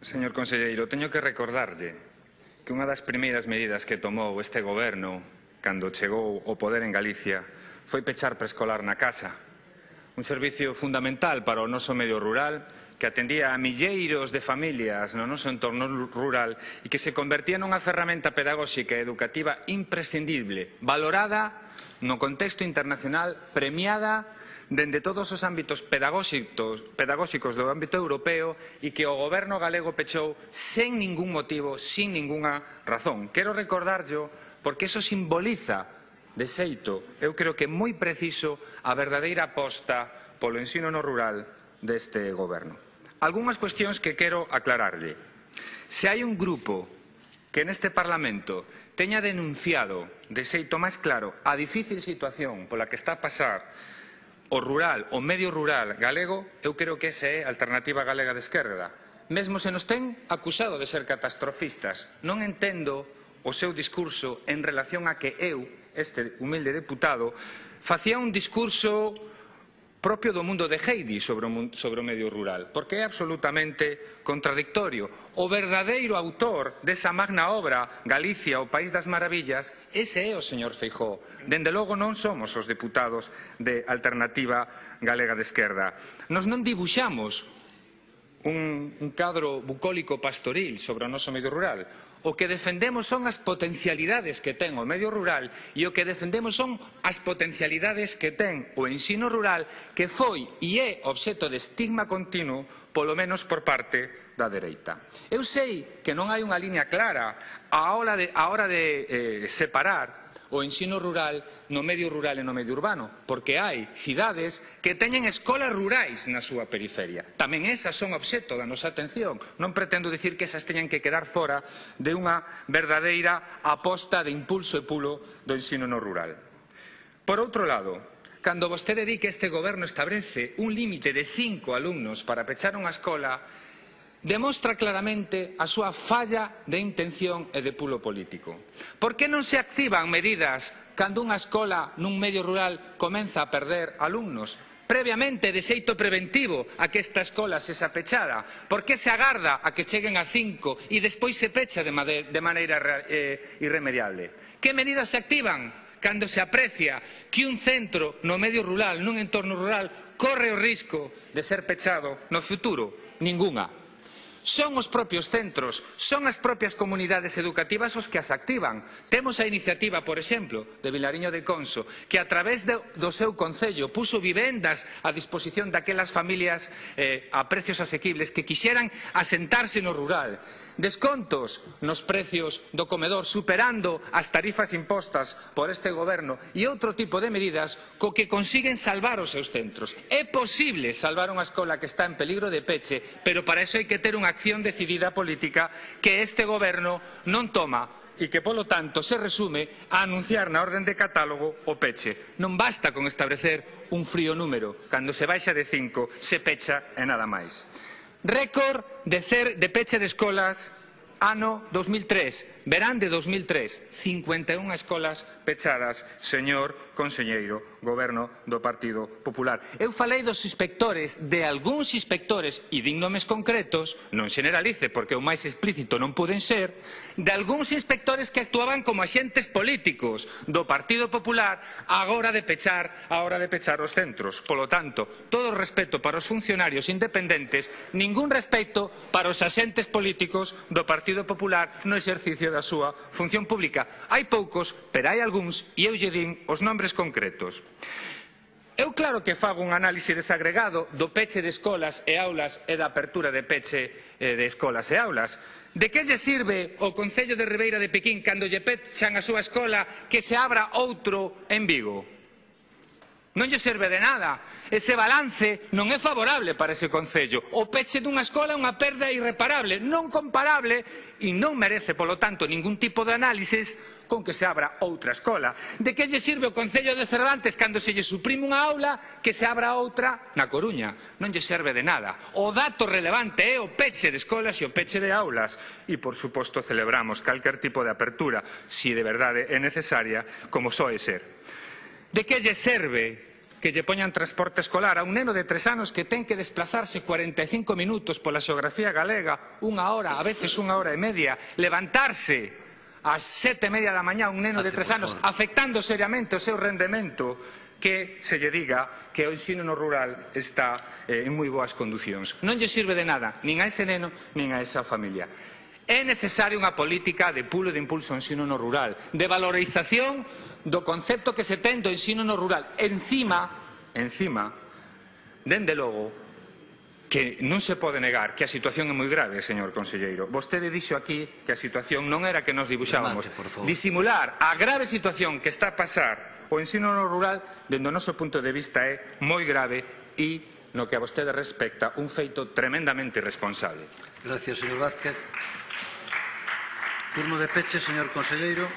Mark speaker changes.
Speaker 1: Señor conselleiro, teño que recordarlle que unha das primeiras medidas que tomou este goberno cando chegou ao poder en Galicia foi pechar preescolar na casa, un servicio fundamental para o noso medio rural que atendía a milleiros de familias no noso entorno rural e que se convertía nunha ferramenta pedagóxica e educativa imprescindible, valorada no contexto internacional, premiada dende todos os ámbitos pedagóxicos do ámbito europeo e que o goberno galego pechou sen ningún motivo, sin ningunha razón. Quero recordarllo porque iso simboliza de xeito, eu creo que moi preciso, a verdadeira aposta polo ensino no rural deste goberno. Algúnas cuestións que quero aclararlle. Se hai un grupo que neste Parlamento teña denunciado de xeito máis claro a difícil situación pola que está a pasar o rural, o medio rural galego, eu creo que esa é a Alternativa Galega de Esquerda. Mesmo se nos ten acusado de ser catastrofistas, non entendo o seu discurso en relación a que eu, este humilde deputado, facía un discurso propio do mundo de Heidi sobre o medio rural, porque é absolutamente contradictorio. O verdadeiro autor desa magna obra, Galicia, o País das Maravillas, ese é o señor Feijóo. Dende logo non somos os deputados de Alternativa Galega de Esquerda. Nos non dibuixamos un cadro bucólico pastoril sobre o noso medio rural. O que defendemos son as potencialidades que ten o medio rural e o que defendemos son as potencialidades que ten o ensino rural que foi e é obxecto de estigma continuo, polo menos por parte da dereita. Eu sei que non hai unha liña clara á hora de separar o ensino rural no medio rural e no medio urbano, porque hai cidades que teñen escolas rurais na súa periferia. Tamén esas son obxecto da nosa atención. Non pretendo dicir que esas teñan que quedar fora de unha verdadeira aposta de impulso e pulo do ensino no rural. Por outro lado, cando vostede di que este goberno establece un límite de 5 alumnos para pechar unha escola, demostra claramente a súa falla de intención e de pulo político. Por que non se activan medidas cando unha escola nun medio rural comeza a perder alumnos? Previamente, de xeito preventivo, a que esta escola sexa pechada. Por que se agarda a que cheguen a 5 e despois se pecha de maneira irremediable? Que medidas se activan cando se aprecia que un centro no medio rural, nun entorno rural, corre o risco de ser pechado no futuro? Ningunha. Son os propios centros, son as propias comunidades educativas os que as activan. Temos a iniciativa, por exemplo, de Vilariño de Conso, que a través do seu concello puso vivendas a disposición daquelas familias a precios asequibles que quixeran asentarse no rural. Descontos nos precios do comedor, superando as tarifas impostas por este goberno e outro tipo de medidas co que consiguen salvar os seus centros. É posible salvar unha escola que está en peligro de peche, pero para iso hai que ter unha acción decidida política que este goberno non toma e que, polo tanto, se resume a anunciar na orden de catálogo o peche. Non basta con establecer un frío número. Cando se baixa de 5, se pecha e nada máis. Récord de peche de escolas ano 2003, verán de 2003, 51 escolas pechadas, señor conselleiro, goberno do Partido Popular. Eu falei dos inspectores, de algúns inspectores, e din nomes concretos, non generalice porque o máis explícito non poden ser, de algúns inspectores que actuaban como axentes políticos do Partido Popular á hora de pechar os centros. Polo tanto, todo o respeto para os funcionarios independentes, ningún respeto para os axentes políticos do Partido Popular no exercicio da súa función pública. Hai poucos, pero hai algúns, e eu lle din os nombres concretos. Eu claro que fago un análise desagregado do peche de escolas e aulas e da apertura de peche de escolas e aulas. De que lle sirve ao Concello de Ribeira de Piquín cando lle pechan a súa escola que se abra outro en Vigo? Non lle serve de nada. Ese balance non é favorable para ese concello. O peche dunha escola é unha perda irreparable, non comparable e non merece, polo tanto, ningún tipo de análisis con que se abra outra escola. De que lle sirve ao Concello de Cervantes cando se lle suprime unha aula que se abra outra na Coruña? Non lle serve de nada. O dato relevante é o peche de escolas e o peche de aulas. E, por suposto, celebramos calquer tipo de apertura, se de verdade é necesaria, como soe ser. De que lle serve que lle poñan transporte escolar a un neno de 3 anos que ten que desplazarse 45 minutos pola xeografía galega, 1 hora, a veces 1 hora e media, levantarse ás 7:30 da mañá un neno de 3 anos, afectando seriamente o seu rendemento, que se lle diga que o ensino no rural está en moi boas condicións. Non lle sirve de nada, nin a ese neno, nin a esa familia. É necesaria unha política de pulo e de impulso ao ensino no rural, de valorización do concepto que se ten do ensino no rural. Encima, dende logo, que non se pode negar que a situación é moi grave, señor conselleiro. Vostede dixo aquí que a situación non era que nos dibuxábamos. Disimular a grave situación que está a pasar o ensino no rural, dende o noso punto de vista, é moi grave e, no que a vostede respecta, un feito tremendamente irresponsable.
Speaker 2: Gracias, señor Vázquez. Turno de peche, señor conselleiro.